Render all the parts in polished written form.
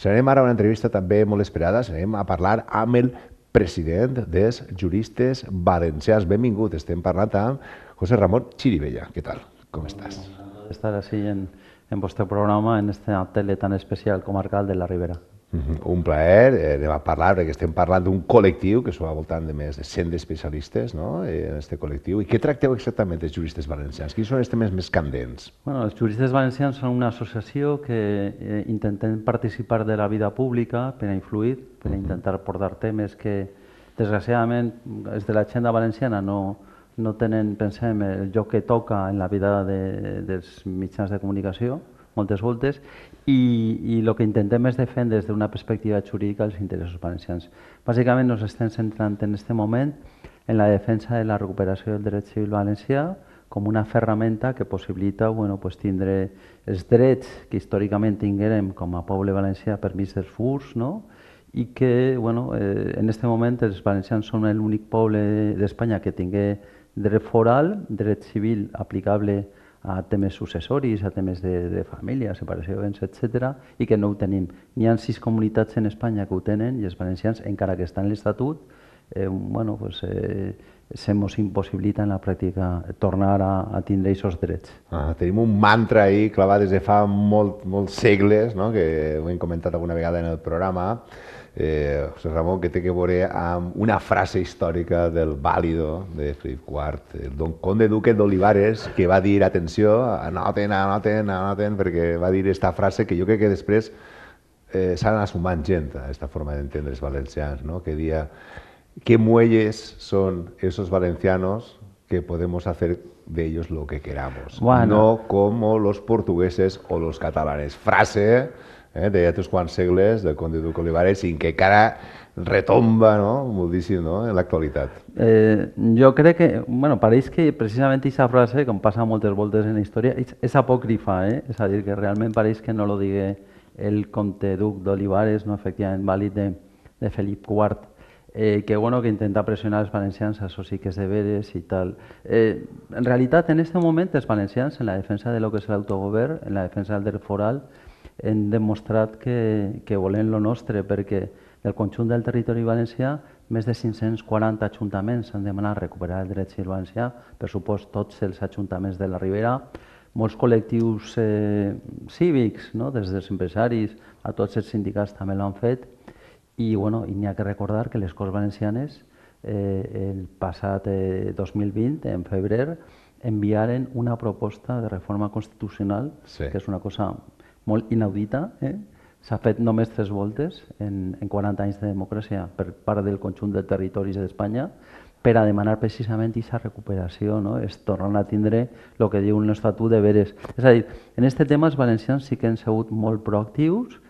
Serem ara una entrevista també molt esperada, serem a parlar amb el president dels juristes valencians. Benvingut, estem parlant amb José Ramón Chirivella. Què tal? Com estàs? Encantado de estar así en vuestro programa, en esta tele tan especial comarcal de la Ribera. Un plaer, anem a parlar, perquè estem parlant d'un col·lectiu que s'ho va al voltant de més de 100 especialistes, no?, en aquest col·lectiu. I què tracteu exactament els juristes valencians? Quins són els temes més candents? Bueno, els juristes valencians són una associació que intentem participar de la vida pública per a influir, per a intentar portar temes que, desgraciadament, els de l'agenda valenciana no tenen, pensem, el lloc que toca en la vida dels mitjans de comunicació, moltes voltes, i el que intentem és defendre des d'una perspectiva jurídica els interessos valencians. Bàsicament ens estem centrant en aquest moment en la defensa de la recuperació del dret civil valencià com una ferramenta que possibilita tindre els drets que històricament tinguérem com a poble valencià per mig dels furs, i que en aquest moment els valencians són l'únic poble d'Espanya que tingui dret foral, dret civil aplicable a temes successoris, a temes de família, separació de béns, etc., i que no ho tenim. N'hi ha 6 comunitats en Espanya que ho tenen i els valencians, encara que està en l'Estatut, se mos impossibilita en la pràctica tornar a tindre aquests drets. Tenim un mantra ahí clavat des de fa molts segles, que ho hem comentat alguna vegada en el programa, José Ramón, que té que veure amb una frase històrica del vàlido de Felip IV, el don conde duque d'Olivares, que va dir, atenció, anoten, perquè va dir aquesta frase que jo crec que després s'ha anat sumant gent a aquesta forma d'entendre els valencians, que dia qué muelles son esos valencianos que podemos hacer de ellos lo que queramos, no como los portugueses o los catalanes. Frase de ja uns quants segles del conde duque Olivares i que encara retomba moltíssim en l'actualitat. Jo crec que, pareix que precisament aquesta frase, com passa moltes voltes en la història, és apòcrifa, és a dir, que realment pareix que no lo digui el comte duc d'Olivares, efectivament vàlid de Felip IV, que intenta pressionar els valencians a això sí que és de veres i tal. En realitat, en aquest moment, els valencians, en la defensa de lo que és l'autogovern, en la defensa del dret foral, hem demostrat que volem lo nostre, perquè del conjunt del territori valencià, més de 540 ajuntaments han demanat recuperar el dret civil valencià, per supost tots els ajuntaments de la Ribera, molts col·lectius cívics, des dels empresaris a tots els sindicats també l'han fet, i n'hi ha que recordar que les Corts Valencianes el passat 2020, en febrer, enviaren una proposta de reforma constitucional, que és una cosa molt inaudita. S'ha fet només 3 voltes en 40 anys de democràcia per part del conjunt de territoris d'Espanya per a demanar precisament aquesta recuperació, és tornar a tindre el que diu l'Estatut de veres. És a dir, en aquest tema els valencians sí que han sigut molt proactius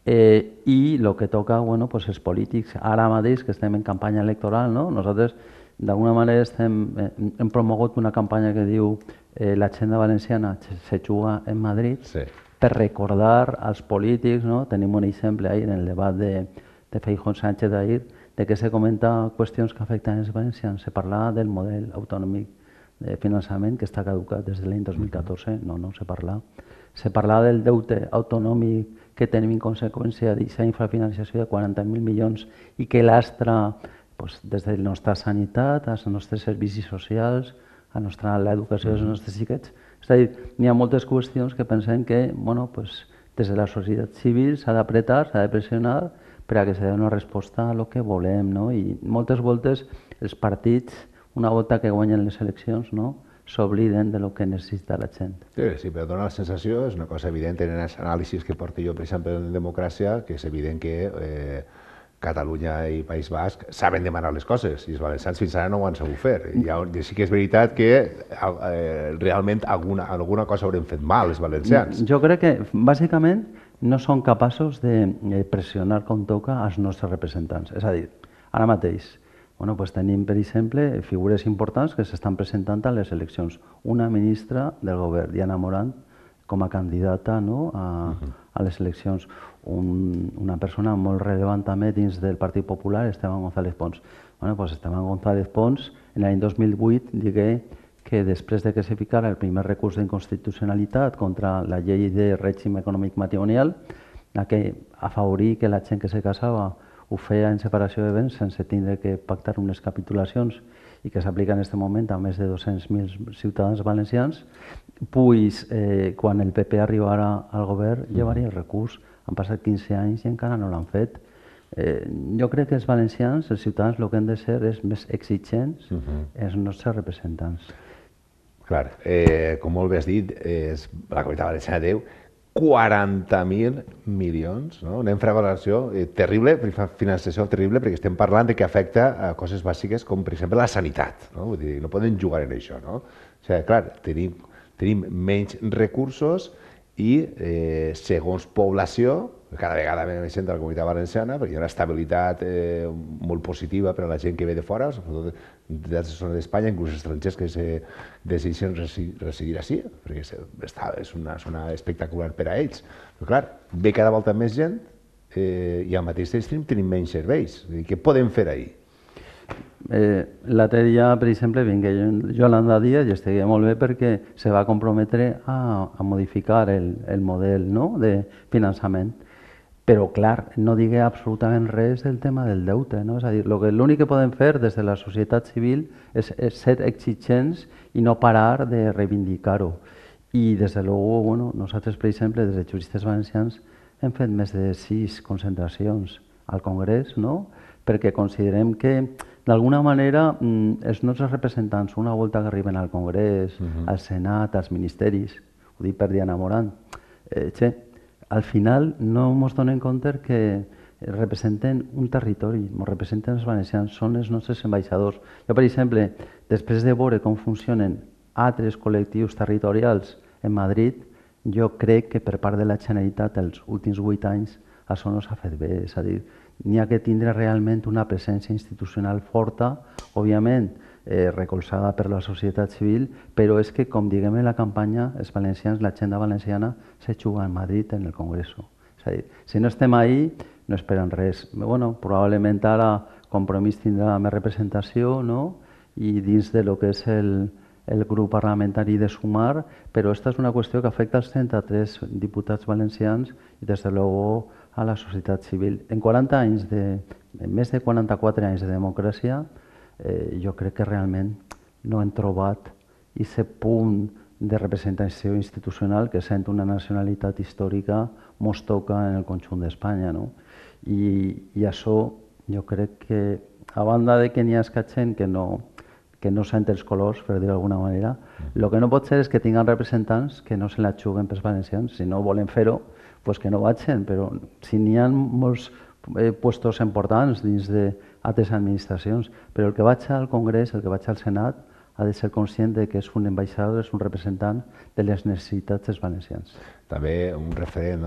i el que toca, els polítics, ara mateix que estem en campanya electoral, nosaltres d'alguna manera hem promogut una campanya que diu l'agenda valenciana se juga en Madrid, per recordar als polítics, tenim un exemple ahir en el debat de Feijóo Sánchez d'ahir, de que se comenta qüestions que afecten els valencians. Se parla del model autonòmic de finançament que està caducat des de l'any 2014, no se parla. Se parla del deute autonòmic que tenim en conseqüència d'aquesta infrafinanciació de 40.000 milions i que lastra des de la nostra sanitat, als nostres servicis socials, a l'educació dels nostres xiquets. És a dir, n'hi ha moltes qüestions que pensem que des de la societat civil s'ha d'apretar, s'ha de pressionar per a que se doni una resposta a el que volem. I moltes voltes els partits, una volta que guanyen les eleccions, s'obliden del que necessita la gent. Sí, però dona la sensació, és una cosa evident en els anàlisis que porto jo, per exemple, en democràcia, que és evident que Catalunya i País Basc saben demanar les coses i els valencians fins ara no ho han sabut fer. I sí que és veritat que realment alguna cosa haurem fet mal els valencians. Jo crec que bàsicament no són capaços de pressionar com toca als nostres representants. És a dir, ara mateix tenim, per exemple, figures importants que s'estan presentant a les eleccions. Una ministra del govern, Diana Morant, com a candidata a les eleccions. Una persona molt rellevant també dins del Partit Popular, Esteban González Pons. Esteban González Pons, en l'any 2008, digué que després de que se ficara el primer recurs d'inconstitucionalitat contra la llei de règim econòmic matrimonial, afavorir que la gent que se casava ho feia en separació de béns sense tindre que pactar unes capitulacions i que s'aplica en aquest moment a més de 200.000 ciutadans valencians, pues quan el PP arribarà al govern llevaria el recurs. Han passat 15 anys i encara no l'han fet. Jo crec que els valencians, els ciutadans, el que han de ser és més exigents els nostres representants. Clar, com molt bé has dit, la Comunitat Valenciana té 40.000 milions, no? Una infravaloració terrible, finançació terrible, perquè estem parlant de que afecta a coses bàsiques com, per exemple, la sanitat, no? Vull dir, no poden jugar en això, no? O sigui, clar, tenim menys recursos i segons població, cada vegada més gent de la Comunitat Valenciana, perquè hi ha una estabilitat molt positiva per a la gent que ve de fora, sobretot de la zona d'Espanya, inclús estrangers que decideixen residir així, perquè és una zona espectacular per a ells. Però clar, ve cada volta més gent i al mateix temps tenim menys serveis. Què podem fer ahir? L'altre dia, per exemple, vingué Yolanda Díaz i estaria molt bé perquè se va comprometre a modificar el model de finançament. Però, clar, no digui absolutament res del tema del deute. És a dir, l'únic que podem fer des de la societat civil és ser exigents i no parar de reivindicar-ho. I, des de luego, nosaltres, per exemple, des de juristes valencians, hem fet més de 6 concentracions al Congrés, perquè considerem que, d'alguna manera, els nostres representants, una volta que arriben al Congrés, al Senat, als ministeris, ho dic per Diana Morant, al final no ens donem compte que representen un territori, ens representen els valencians, són els nostres ambaixadors. Jo, per exemple, després de veure com funcionen altres col·lectius territorials en Madrid, jo crec que per part de la Generalitat els últims 8 anys això no s'ha fet bé. És a dir, n'hi ha que tindre realment una presència institucional forta, òbviament recolzada per la societat civil, però és que, com diguem en la campanya, els valencians, l'agenda valenciana, se juga en Madrid en el Congreso. És a dir, si no estem ahí, no esperen res. Probablement ara Compromís tindrà més representació i dins de lo que és el grup parlamentari de Sumar, però aquesta és una qüestió que afecta als 33 diputats valencians i, des de luego, a la societat civil. En més de 44 anys de democràcia, jo crec que realment no hem trobat aquest punt de representació institucional que sent una nacionalitat històrica mos toca en el conjunt d'Espanya. I això jo crec que, a banda de que n'hi ha gent que no sent els colors, per dir-ho d'alguna manera, el que no pot ser és que tinguin representants que no se la juguen pels valencians. Si no volen fer-ho, doncs que no vagin, però si n'hi ha molts puestos importants dins d'altres administracions, però el que vaig al Congrés, el que vaig al Senat, ha de ser conscient que és un ambaixador, és un representant de les necessitats dels valencians. També un referent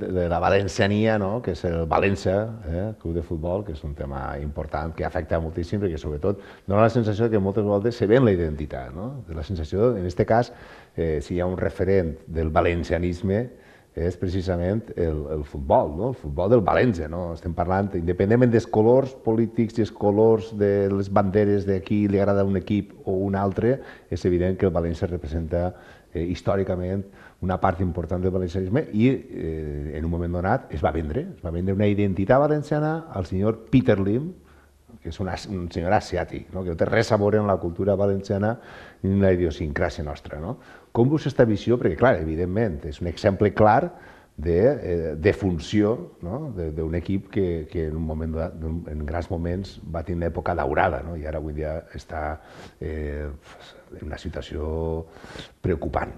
de la valenciania, que és el València, club de futbol, que és un tema important que afecta moltíssim, perquè sobretot dona la sensació que moltes vegades se ven la identitat. La sensació, en aquest cas, si hi ha un referent del valencianisme, és precisament el futbol, el futbol del València. Estem parlant, independentment dels colors polítics i els colors de les banderes de qui li agrada un equip o un altre, és evident que el València representa històricament una part important del valencianisme i en un moment donat es va vendre una identitat valenciana al senyor Peter Lim, que és un senyor asiàtic, que no té res a veure amb la cultura valenciana ni la idiosincràsia nostra. Com veus aquesta visió? Perquè, clar, evidentment, és un exemple clar de funció d'un equip que en grans moments va tenir una època daurada i ara avui dia està en una situació preocupant.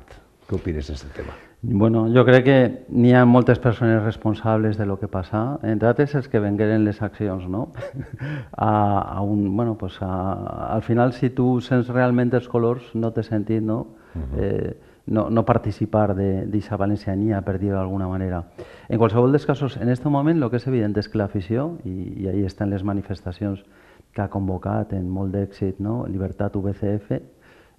Què opines d'aquest tema? Jo crec que n'hi ha moltes persones responsables de lo que passa, entre altres els que vengueren les accions. Al final, si tu sents realment els colors, no té sentit no participar d'aquesta valenciania, per dir-ho d'alguna manera. En qualsevol dels casos, en aquest moment, el que és evident és que l'afició, i ahí estan les manifestacions que ha convocat en molt d'èxit, Llibertat UBCF,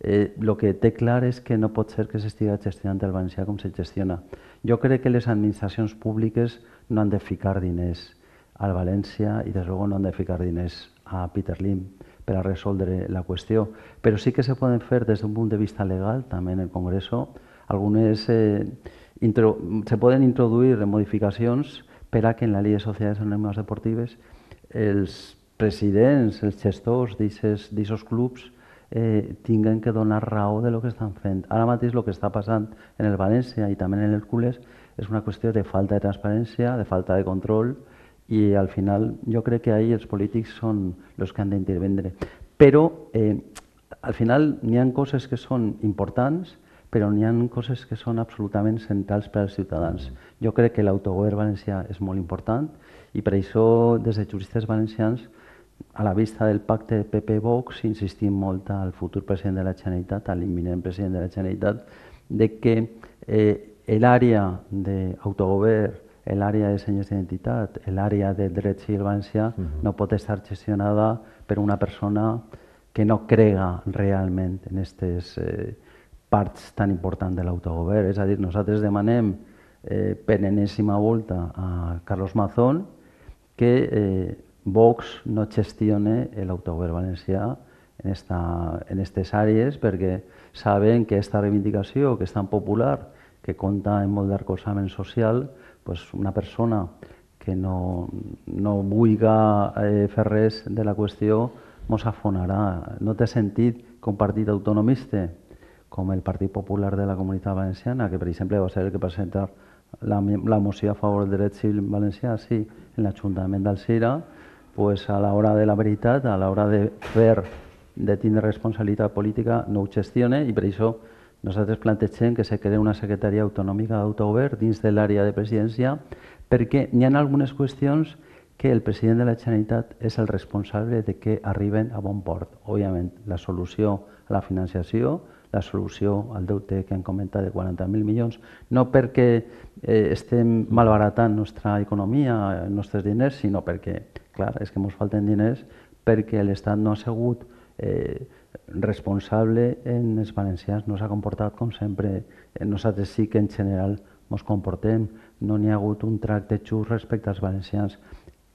el que té clar és que no pot ser que s'estigui gestionant el valencià com se gestiona. Jo crec que les administracions públiques no han de ficar diners al València i, des luego, no han de ficar diners a Peter Lim per a resoldre la qüestió. Però sí que se poden fer des d'un punt de vista legal, també en el Congreso, algunes se poden introduir modificacions per a que en la llei de societats anònimes deportives els presidents, els gestors d'aquests clubs tinguen que donar raó de lo que estan fent. Ara mateix el que està passant en el València i també en l'Hèrcules és una qüestió de falta de transparència, de falta de control, i al final jo crec que ahí els polítics són els que han d'intervindre. Però al final n'hi ha coses que són importants, però n'hi ha coses que són absolutament centrals per als ciutadans. Jo crec que l'autogovern valencià és molt important i per això des de juristes valencians, a la vista del pacte PP-Vox, insistim molt al futur president de la Generalitat, a l'imminent president de la Generalitat, de que l'àrea d'autogovern, l'àrea de senyes d'identitat, l'àrea de dret civil valencià no pot estar gestionada per una persona que no crega realment en aquestes parts tan importants de l'autogovern. És a dir, nosaltres demanem per enèsima volta a Carlos Mazón que Vox no gestione l'autogovern valencià en aquestes àrees, perquè saben que aquesta reivindicació, que és tan popular, que compta amb molt d'arcolzament social, una persona que no vulgui fer res de la qüestió mos afonarà. No té sentit que un partit autonomista com el Partit Popular de la Comunitat Valenciana, que per exemple va ser el que presenta la moció a favor del dret civil valencià, sí, en l'Ajuntament d'Alzira, a l'hora de la veritat, a l'hora de tindre responsabilitat política, no ho gestione, i per això nosaltres plantegem que se crea una secretaria autonòmica d'autogovern dins de l'àrea de presidència, perquè hi ha algunes qüestions que el president de la Generalitat és el responsable de que arriben a bon port. Òbviament, la solució a la financiació, la solució al deute que hem comentat de 40.000 milions, no perquè estem malbaratant la nostra economia, els nostres diners, sinó perquè, clar, és que ens falten diners perquè l'Estat no ha sigut responsable en els valencians, no s'ha comportat com sempre. Nosaltres sí que en general ens comportem, no n'hi ha hagut un tracte just respecte als valencians.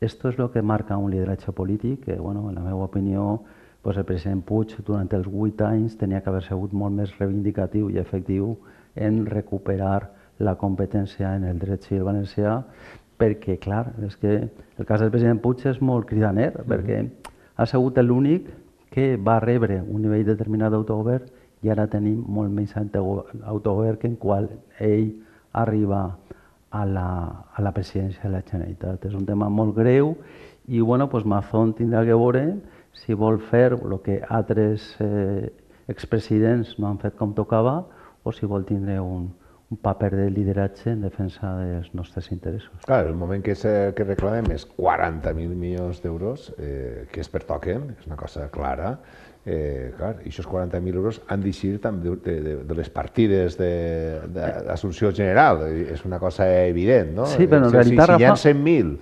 Esto és el que marca un lideratge polític que, en la meva opinió, el president Puig durant els 8 anys tenia que haver sigut molt més reivindicatiu i efectiu en recuperar la competència en el dret civil valencià, perquè, clar, és que el cas del president Puig és molt cridaner, perquè ha sigut l'únic que va rebre un nivell determinat d'autogovern i ara tenim molt menys autogovern que en qual ell arriba a la presidència de la Generalitat. És un tema molt greu i Mazón tindrà que veure si vol fer el que altres expresidents no han fet com tocava o si vol tindre un paper de lideratge en defensa dels nostres interessos. Clar, el moment que reclamem és 40.000 milions d'euros, que es pertoquen, és una cosa clara. Clar, i aquests 40.000 euros han d'eixir també de les partides d'assumpció general. És una cosa evident, no? Sí, però en realitat, si hi ha 100.000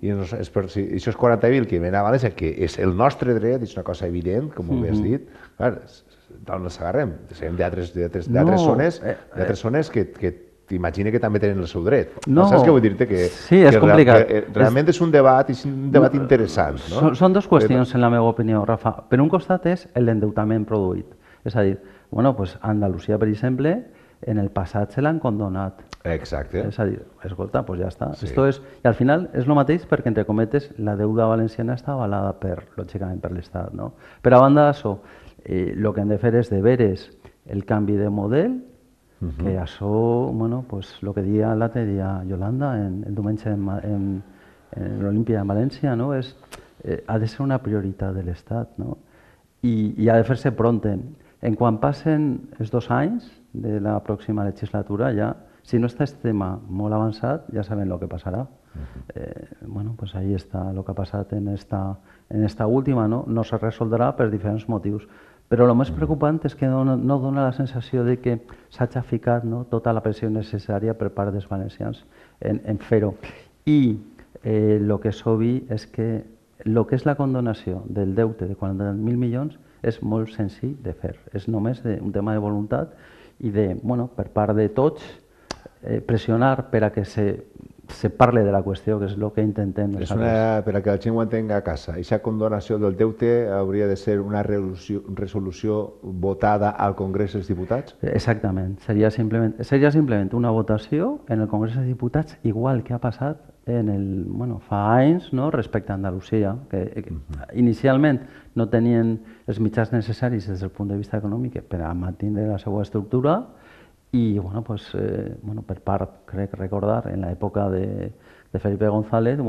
i aquests 40.000 que venen a València, que és el nostre dret, és una cosa evident, com ho has dit, clar, d'on les agarrem? Sabem d'altres zones que t'imagina que també tenen el seu dret. Saps què vull dir-te? Sí, és complicat. Realment és un debat interessant. Són dues qüestions, en la meva opinió, Rafa. Per un costat és l'endeutament produït. És a dir, Andalusia, per exemple, en el passat se l'han condonat. Exacte. És a dir, escolta, doncs ja està. I al final és el mateix perquè, entre cometes, la deuda valenciana està avalada, lògicament, per l'Estat. Per a banda d'això, el que hem de fer és de veres el canvi de model, que això, el que dia l'altre dia Yolanda, el diumenge en l'Olímpia de València, ha de ser una prioritat de l'Estat i ha de fer-se pronte. En quan passen els 2 anys de la pròxima legislatura, ja, si no està el tema molt avançat, ja sabem el que passarà. Ahí està el que ha passat en esta última, no se resoldrà per diferents motius. Però el més preocupant és que no dona la sensació de que s'hagi ficat tota la pressió necessària per part dels valencians en fer-ho. I el que és obvi és que el que és la condonació del deute de 40.000 milions és molt senzill de fer. És només un tema de voluntat i per part de tots pressionar per a que se se parle de la qüestió, que és el que intentem És nosaltres. per a que la gent ho entenga a casa, aquesta condonació del deute hauria de ser una resolució votada al Congrés dels Diputats? Exactament, seria simplement una votació en el Congrés dels Diputats, igual que ha passat fa anys, no, respecte a Andalusia, que inicialment no tenien els mitjans necessaris des del punt de vista econòmic per a mantenir la seva estructura i per part, crec recordar, en l'època de Felipe González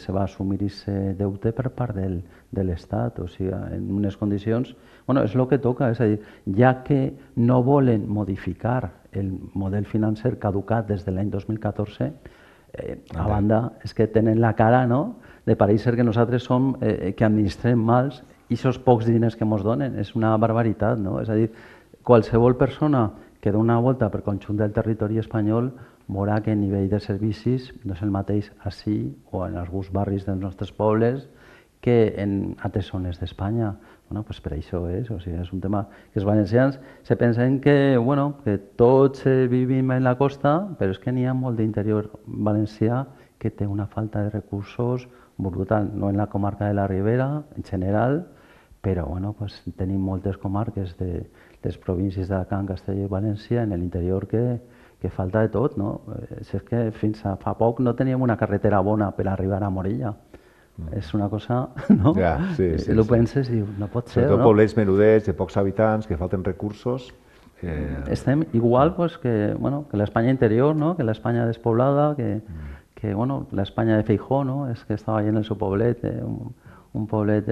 se va assumir aquest deute per part de l'Estat, o sigui, en unes condicions... És el que toca, és a dir, ja que no volen modificar el model financer caducat des de l'any 2014, a banda és que tenen la cara de parèixer que nosaltres som que administrem mals i aquests pocs diners que ens donen, és una barbaritat, no? És a dir, qualsevol persona que dona una volta per conjunt del territori espanyol veurà que el nivell de servicis no és el mateix ací o en alguns barris dels nostres pobles que en altres zones d'Espanya. Per això és, o sigui, és un tema que els valencians se pensen que tots vivim en la costa, però és que n'hi ha molt d'interior valencià que té una falta de recursos brutal, no en la comarca de la Ribera, en general, però tenim moltes comarques de les províncies d'Alacant, Castella i València en l'interior que falta de tot, no? És que fins a fa poc no teníem una carretera bona per arribar a Morella. És una cosa, no? Ja, sí. Ho penses i dius, no pot ser, no? Sobretot poblets menudets, de pocs habitants, que falten recursos. Estem igual que l'Espanya interior, no? Que l'Espanya despoblada, que l'Espanya de Feijó, no? És que estava allà en el seu poblet, un poblet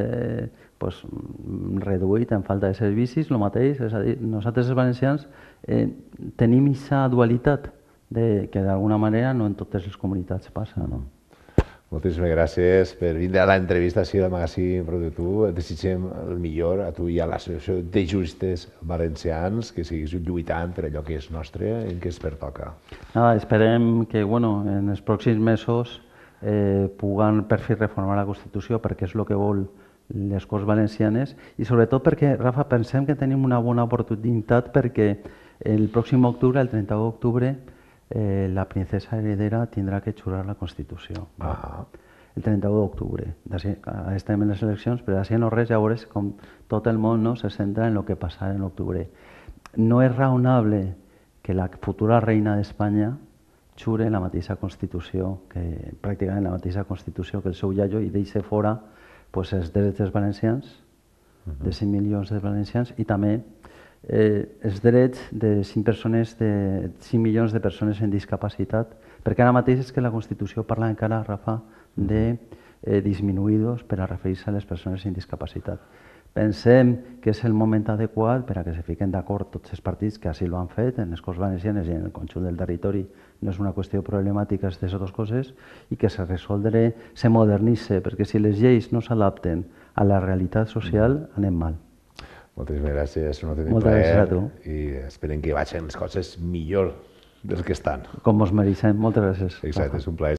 reduït en falta de servicis, el mateix, és a dir, nosaltres els valencians tenim aquesta dualitat que d'alguna manera no en totes les comunitats passa, no? Moltíssimes gràcies per vindre a l'entrevista així del magazín Prou-de-tu. Et desitgem el millor a tu i a l'Associació de Juristes Valencians, que siguis lluitant per allò que és nostre i que es pertoca. Esperem que en els pròxims mesos puguem per fi reformar la Constitució perquè és el que vol les Corts Valencianes i sobretot perquè, Rafa, pensem que tenim una bona oportunitat perquè el pròxim octubre, el 31 d'octubre, la princesa heredera tindrà que jurar la Constitució. El 31 d'octubre. Estem en les eleccions, però així no res, ja veuràs com tot el món se centra en el que passarà en octubre. No és raonable que la futura reina d'Espanya jure la mateixa Constitució, pràcticament la mateixa Constitució que el seu iaio, i deixa fora els drets dels valencians, de 5 milions de valencians, i també els drets de 5 milions de persones amb discapacitat, perquè ara mateix és que la Constitució parla encara, Rafa, de disminuïdos per a referir-se a les persones amb discapacitat. Pensem que és el moment adequat per a que se fiquen d'acord tots els partits que així ho han fet en les Corts Valencianes i en el conjunt del territori. No és una qüestió problemàtica de totes coses i que se resoldre, se modernitze, perquè si les lleis no s'adapten a la realitat social anem mal. Moltíssimes gràcies, un autèntic Moltes gràcies a tu. I esperem que vagin les coses millor del que estan. Com mos mereixem. Moltes gràcies. Exacte, és un plaer.